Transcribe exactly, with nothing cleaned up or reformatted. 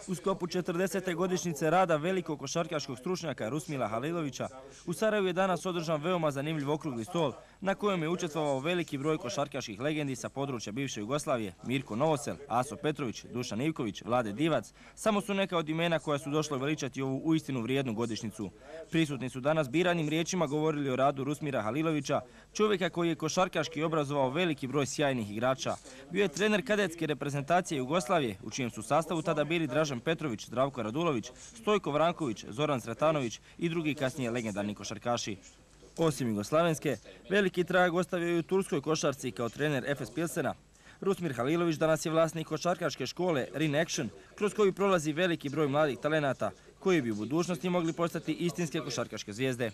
U sklopu četrdesete godišnjice rada velikog košarkaškog stručnjaka Rusmila Halilovića u Sarajevu je danas održan veoma zanimljiv okrugli stol na kojem je učestvovao veliki broj košarkaških legendi sa područja bivše Jugoslavije, Mirko Novosel, Aso Petrović, Dušan Ivković, Vlade Divac, samo su neka od imena koja su došla veličati ovu uistinu vrijednu godišnjicu. Prisutni su danas biranim riječima govorili o radu Rusmira Halilovića, čovjeka koji je košarkaški obrazovao veliki broj sjajnih igrača. Bio je trener kadetske reprezentacije Jugoslavije, u čijem su sastavu tada bili Dražen Petrović, Zdravko Radulović, Stojko Vranković, Zoran Sretanović i drugi kasnije legendarni košarkaši. Osim jugoslavenske, veliki trag ostavio je u turskoj košarci kao trener Efes Pilsena. Rusmir Halilović danas je vlasnik košarkaške škole Rin Action, kroz koju prolazi veliki broj mladih talenata, koji bi u budućnosti mogli postati istinske košarkaške zvijezde.